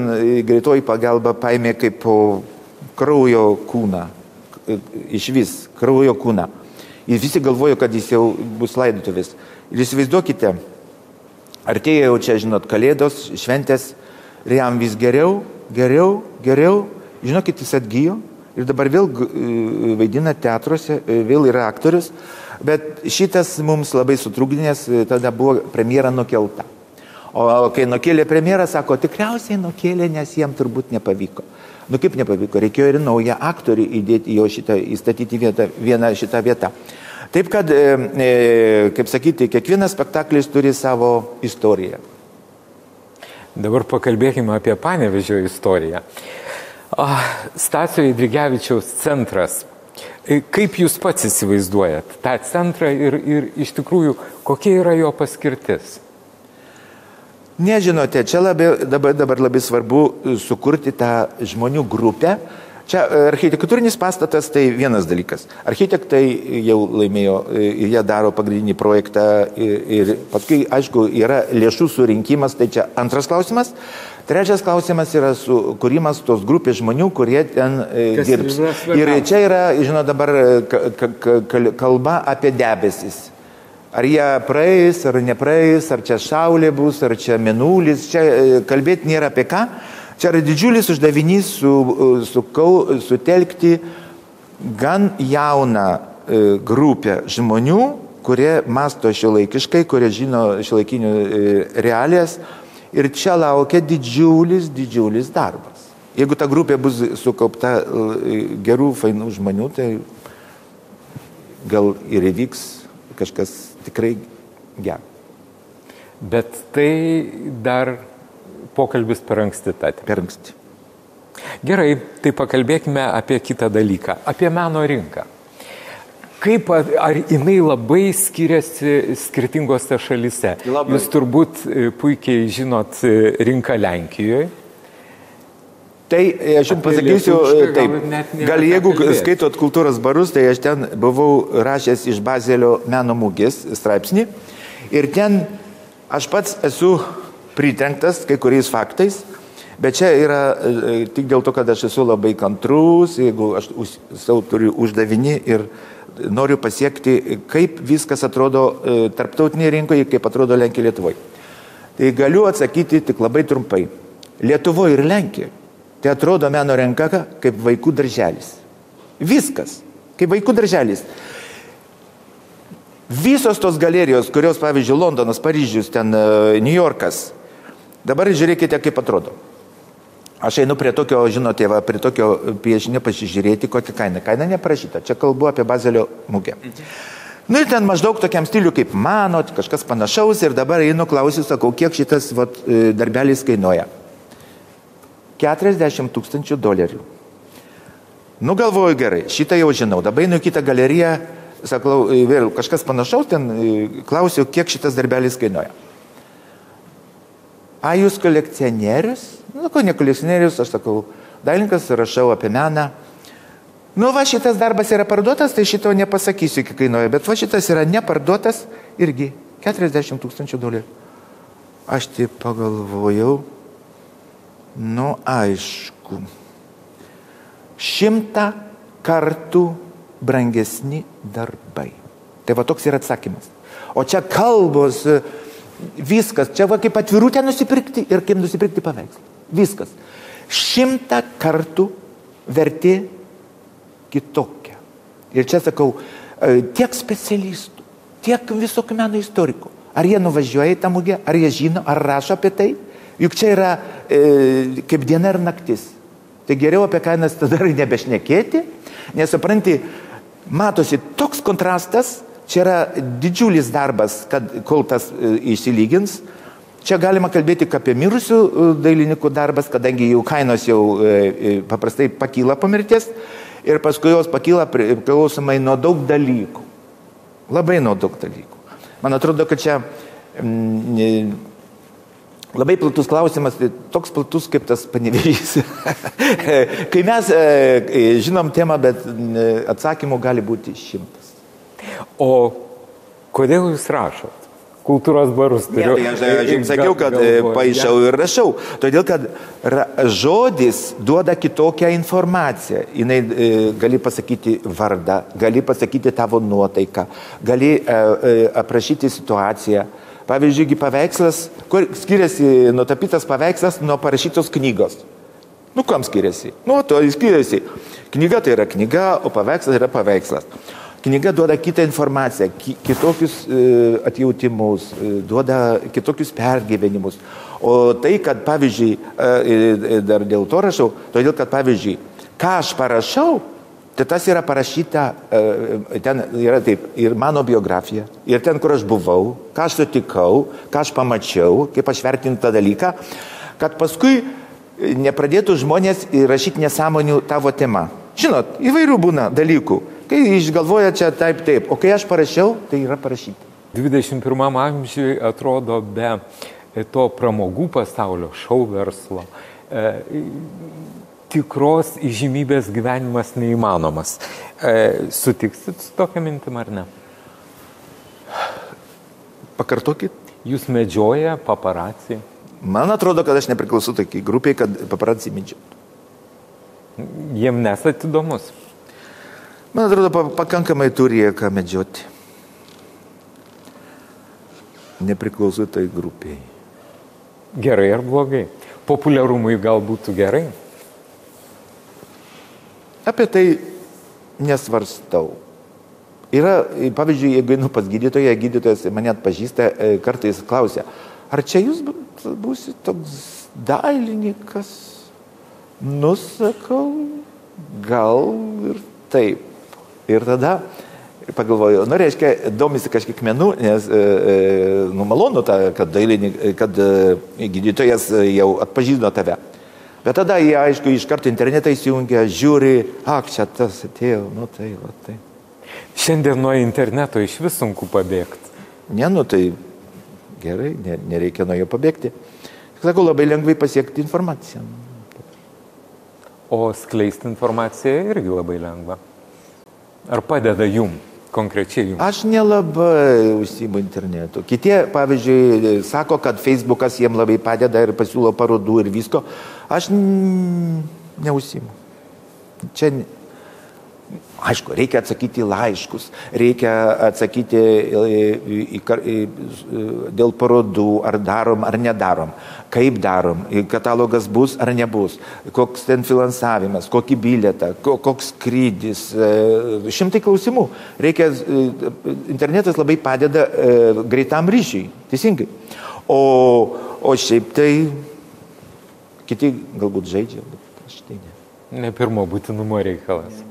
[SPEAKER 2] greitoji pagalba paėmė kaip po kraujo kūną, iš vis kraujo kūną. Ir visi galvojo, kad jis jau bus laidotuvės. Ir įsivaizduokite, artėja jau čia, žinot, kalėdos, šventės, ir jam vis geriau. Žinokit, jis atgyjo ir dabar vėl vaidina teatruose, vėl yra aktorius, bet šitas mums labai sutrukdinės, tada buvo premjera nukelta. O kai nukėlė premjerą, sako, tikriausiai nukėlė, nes jam turbūt nepavyko. Kaip nepavyko, reikėjo ir naują aktorių įdėti į jo šitą, įstatyti vieną šitą vietą. Taip kad, kaip sakyti, kiekvienas spektaklis turi savo istoriją.
[SPEAKER 1] Dabar pakalbėkime apie Panevėžio istoriją. Stasio Eidrigevičiaus centras. Kaip jūs pats įsivaizduojat tą centrą ir iš tikrųjų, kokia yra jo paskirtis?
[SPEAKER 2] Nežinote, čia dabar labai svarbu sukurti tą žmonių grupę. Čia architektūrinis pastatas tai vienas dalykas. Architektai jau laimėjo, jie daro pagrindinį projektą ir paskui, aišku, yra lėšų surinkimas, tai čia antras klausimas. Trečias klausimas yra kūrimas tos grupės žmonių, kurie ten dirbs. Ir čia yra, žinot, dabar kalba apie debesis. Ar jie praeis, ar nepraeis, ar čia saulė bus, ar čia mėnulis. Čia kalbėti nėra apie ką. Čia yra didžiulis uždavinys sutelkti gan jauną grupę žmonių, kurie masto šiuolaikiškai, kurie žino šiuolaikinių realijas. Ir čia laukia didžiulis darbas. Jeigu ta grupė bus sukaupta gerų, fainų žmonių, tai gal ir įvyks kažkas tikrai gero.
[SPEAKER 1] Bet tai dar pokalbis per anksti tati.
[SPEAKER 2] Per anksti.
[SPEAKER 1] Gerai, tai pakalbėkime apie kitą dalyką, apie meno rinką. Kaip, ar jinai labai skiriasi skirtingose šalyse?
[SPEAKER 2] Labai.
[SPEAKER 1] Jūs turbūt puikiai žinot rinką Lenkijoje.
[SPEAKER 2] Tai aš jums pasakysiu, taip, gal jeigu skaitot kultūros barus, tai aš ten buvau rašęs iš Bazelio meno mūgės straipsnį ir ten aš pats esu pritrenktas kai kuriais faktais, bet čia yra tik dėl to, kad aš esu labai kantrus, jeigu aš savo turiu uždavinį ir noriu pasiekti, kaip viskas atrodo tarptautinėje rinkoje, kaip atrodo Lenkija Lietuvoje. Tai galiu atsakyti tik labai trumpai. Lietuvoje ir Lenkijoje tai atrodo meno rinka kaip vaikų darželis. Viskas, kaip vaikų darželis. Visos tos galerijos, kurios, pavyzdžiui, Londonas, Paryžius, ten New Yorkas, dabar žiūrėkite, kaip atrodo. Aš einu prie tokio, žinote, prie tokio piešinio pasižiūrėti, kokia kaina. Kaina neprašyta. Čia kalbu apie Bazelio mūgę. Nu ir ten maždaug tokiam stiliu kaip mano, kažkas panašaus ir dabar einu klausiu, sakau, kiek šitas darbelis kainuoja. $40,000. Nu galvoju gerai, šitą jau žinau. Dabar einu į kitą galeriją, sakau, vėl kažkas panašaus, ten klausiu, kiek šitas darbelis kainuoja. A, jūs kolekcionierius? Nu, ko ne kolekcionierius, aš sakau, dailininkas, rašau apie meną. Nu, va, šitas darbas yra parduotas, tai šito nepasakysiu, kiek kainuoja, bet va, šitas yra neparduotas irgi $40,000. Aš taip pagalvojau, nu, aišku, 100 kartų brangesni darbai. Tai va, toks yra atsakymas. O čia kalbos, viskas, čia va kaip atvirutę nusipirkti ir kaip nusipirkti paveikslą. Viskas. 100 kartų vertė kitokia. Ir čia sakau, tiek specialistų, tiek visokių meno istorikų. Ar jie nuvažiuoja į tą mugę, ar jie žino, ar rašo apie tai. Juk čia yra kaip diena ir naktis. Tai geriau apie kainas tada ir nebešnekėti, nes supranti, matosi toks kontrastas. Čia yra didžiulis darbas, kol tas išsilygins. Čia galima kalbėti apie mirusių dailininkų darbas, kadangi jų kainos jau paprastai pakyla po mirties ir paskui jos pakyla priklausomai nuo daug dalykų. Labai nuo daug dalykų. Man atrodo, kad čia labai platus klausimas, toks platus kaip tas Panevėžys. Kai mes žinom temą, bet atsakymų gali būti 100.
[SPEAKER 1] O kodėl jūs rašot? Kultūros barus turiu.
[SPEAKER 2] Ne, tai aš jums sakiau, kad paišau ir rašau. Todėl, kad žodis duoda kitokią informaciją. Jinai gali pasakyti vardą, gali pasakyti tavo nuotaiką, gali aprašyti situaciją. Pavyzdžiui, paveikslas, kur skiriasi nutapytas paveikslas nuo parašytos knygos. Nu, kam skiriasi? Nu, to skiriasi. Knyga tai yra knyga, o paveikslas yra paveikslas. Knyga duoda kitą informaciją, kitokius atjautimus, duoda kitokius pergyvenimus. O tai, kad, pavyzdžiui, dar dėl to rašau, todėl, kad, pavyzdžiui, ką aš parašau, tai tas yra parašyta, ten yra taip, ir mano biografija, ir ten, kur aš buvau, ką aš sutikau, ką aš pamačiau, kaip aš vertinu tą dalyką, kad paskui nepradėtų žmonės rašyti nesąmonių tavo tema. Žinot, įvairių būna dalykų. Kai išgalvoja čia taip, o kai aš parašiau, tai yra parašyta.
[SPEAKER 1] 21 amžiui atrodo be to pramogų pasaulio, šou verslo, tikros įžymybės gyvenimas neįmanomas. Sutiksit su tokia mintim ar ne?
[SPEAKER 2] Pakartokit.
[SPEAKER 1] Jūs medžioja paparaciai?
[SPEAKER 2] Man atrodo, kad aš nepriklausau tokiai grupiai, kad paparazzi medžiotų.
[SPEAKER 1] Jiem nesat įdomus.
[SPEAKER 2] Man atrodo, pakankamai turi ką medžioti. Nepriklausau tai grupiai.
[SPEAKER 1] Gerai ar blogai? Populiarumui gal būtų gerai?
[SPEAKER 2] Apie tai nesvarstau. Yra, pavyzdžiui, jeigu einu pas gydytoją, gydytojas mane atpažįsta, kartais klausia, ar čia jūs būsit toks dailininkas? Nusakau, gal ir taip. Ir tada pagalvoju, reiškia, domisi kažkiek menų, nes malonu, kad gydytojas jau atpažino tave. Bet tada jie, aišku, iš karto internetą įsijungia, žiūri, čia tas atėjo, tai.
[SPEAKER 1] Šiandien nuo interneto iš vis sunku pabėgti.
[SPEAKER 2] Ne, tai gerai, nereikia nuo jo pabėgti. Sakau, labai lengvai pasiekti informaciją.
[SPEAKER 1] O skleisti informaciją irgi labai lengva. Ar padeda jum, konkrečiai jum?
[SPEAKER 2] Aš nelabai užsiimu internetu. Kiti, pavyzdžiui, sako, kad Facebookas jiem labai padeda ir pasiūlo parodų ir visko. Aš neužsiimu. Čia, aišku, reikia atsakyti laiškus, reikia atsakyti dėl parodų, ar darom, ar nedarom, kaip darom, katalogas bus ar nebus, koks ten finansavimas, kokį bilietą, koks skrydis, šimtai klausimų. Internetas labai padeda greitam ryšiui, teisingai. O šiaip tai kiti galbūt žaidžia, bet aš tai ne.
[SPEAKER 1] Ne pirmo būtinumo reikalas.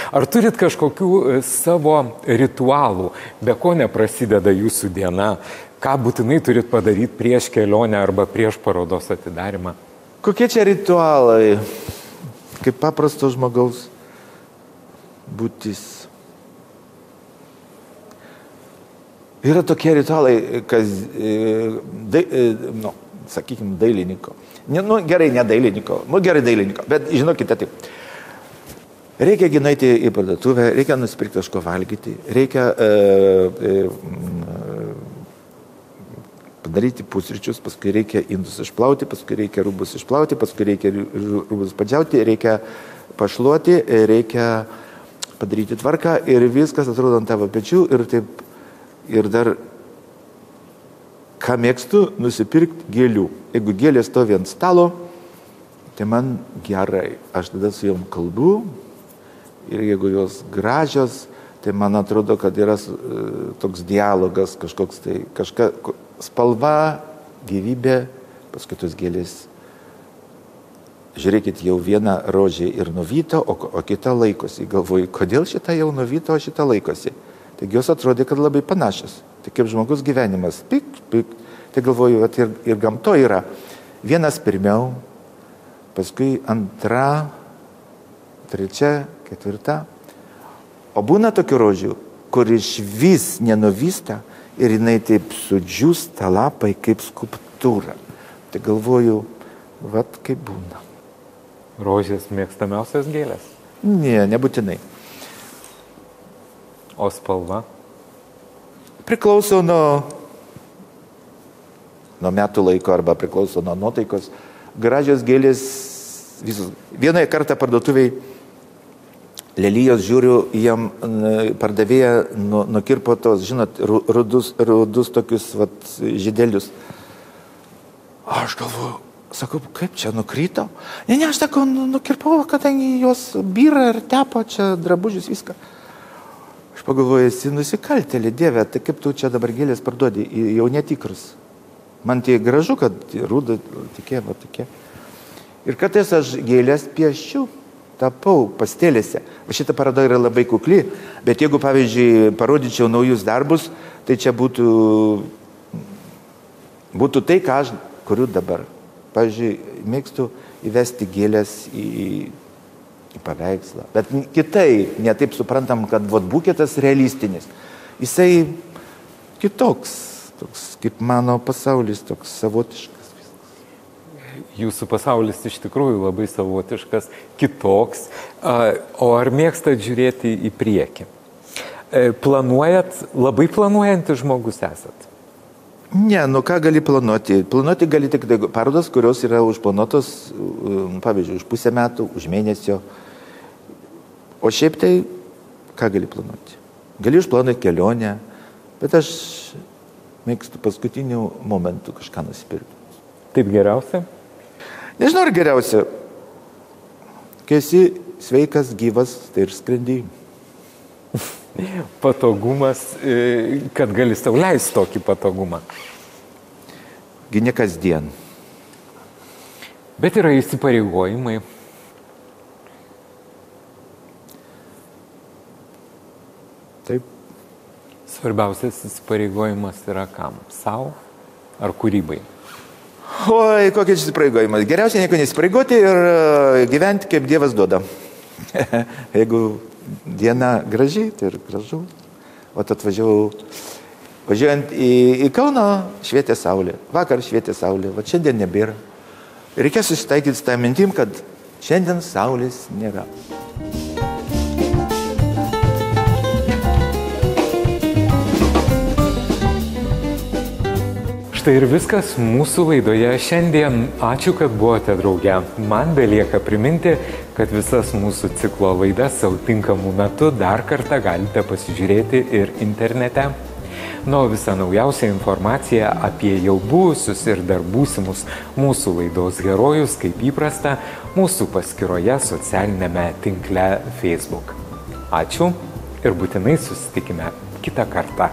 [SPEAKER 1] Ar turit kažkokių savo ritualų, be ko neprasideda jūsų diena, ką būtinai turit padaryti prieš kelionę arba prieš parodos atidarimą?
[SPEAKER 2] Kokie čia ritualai? Kaip paprasto žmogaus būtis. Yra tokie ritualai, sakykime, dailininko. Gerai, ne dailininko, gerai dailininko, bet žinokite taip. Reikia nueiti į parduotuvę, reikia nusipirkti kažko valgyti, reikia padaryti pusryčius, paskui reikia indus išplauti, paskui reikia rūbus išplauti, paskui reikia rūbus padžiauti, reikia pašluoti, reikia padaryti tvarką ir viskas atrodo ant tavo pečių ir taip, ir dar, ką mėgstu, nusipirkti gėlių. Jeigu gėlės stovi ant stalo, tai man gerai, aš tada su jom kalbu. Ir jeigu jos gražios, tai man atrodo, kad yra toks dialogas, kažkoks tai, spalva, gyvybė, paskui tos gėlės. Žiūrėkit, jau viena rožė ir nuvyto, o kita laikosi. Galvoju, kodėl šita jau nuvyto, o šita laikosi. Taigi jos atrodė, kad labai panašios. Tai kaip žmogus gyvenimas, pik. Tai galvoju, ir gamto yra. Vienas pirmiau, paskui antra, trečia, ketvirta. O būna tokių rožių, kur iš vis nenuvysta ir jinai taip sudžiūsta lapai kaip skulptūra. Tai galvoju, vat kaip būna.
[SPEAKER 1] Rožės mėgstamiausias gėlės?
[SPEAKER 2] Ne, nebūtinai.
[SPEAKER 1] O spalva?
[SPEAKER 2] Priklauso nuo metų laiko arba priklauso nuo nuotaikos. Gražios gėlės visos. Vieną kartą parduotuviai lelijos žiūriu, jam pardavėja nukirpo tos, žinot, rudus tokius žydelius. Aš galvoju, sakau, kaip čia nukrito? Ne, aš sakau, nukirpau, kadangi jos byra ir tepo čia drabužius viską. Aš pagalvoju, esi nusikaltėlė, Dieve, tai kaip tu čia dabar gėlės parduodi, jau netikrus. Man tai gražu, kad rūda tokie. Ir kartais aš gėlės piešiu. Tapau pastelėse. Šita paroda yra labai kukli, bet jeigu, pavyzdžiui, parodyčiau naujus darbus, tai čia būtų tai, ką aš kuriu dabar. Pavyzdžiui, mėgstu įvesti gėlės į paveikslą. Bet kitai, ne taip suprantam, kad buketas realistinis. Jisai kitoks, toks kaip mano pasaulis, toks savotiškas.
[SPEAKER 1] Jūsų pasaulis iš tikrųjų labai savotiškas, kitoks. O ar mėgstat žiūrėti į priekį? Labai planuojantis žmogus esat?
[SPEAKER 2] Ne, nu ką gali planuoti? Planuoti gali tik parodas, kurios yra užplanuotos, pavyzdžiui, už pusę metų, už mėnesio. O šiaip tai, ką gali planuoti? Gali užplanuoti kelionę, bet aš mėgstu paskutinių momentų kažką nusipirkti.
[SPEAKER 1] Taip geriausia?
[SPEAKER 2] Nežinau, ar geriausia. Kai esi sveikas, gyvas, tai ir skrendi.
[SPEAKER 1] Patogumas, kad gali sau leisti tokį patogumą.
[SPEAKER 2] Gi ne kasdien.
[SPEAKER 1] Bet yra įsipareigojimai.
[SPEAKER 2] Taip.
[SPEAKER 1] Svarbiausias įsipareigojimas yra kam? Sau ar kūrybai?
[SPEAKER 2] Oi, kokie įsipareigojimas. Geriausia nieko nesipareigoti ir gyventi, kaip Dievas duoda. Jeigu diena graži, tai ir gražu. O važiuojant į Kauną švietė saulė. Vakar švietė saulė, va šiandien nebėra. Reikia susitaikyti su tą mintim, kad šiandien saulės nėra.
[SPEAKER 1] Štai ir viskas mūsų laidoje šiandien. Ačiū, kad buvote drauge. Man belieka priminti, kad visas mūsų ciklo laidas savo tinkamų metu dar kartą galite pasižiūrėti ir internete. O visą naujausią informaciją apie jau buvusius ir dar būsimus mūsų laidos herojus, kaip įprasta, mūsų paskyroje socialinėme tinkle Facebook. Ačiū ir būtinai susitikime kitą kartą.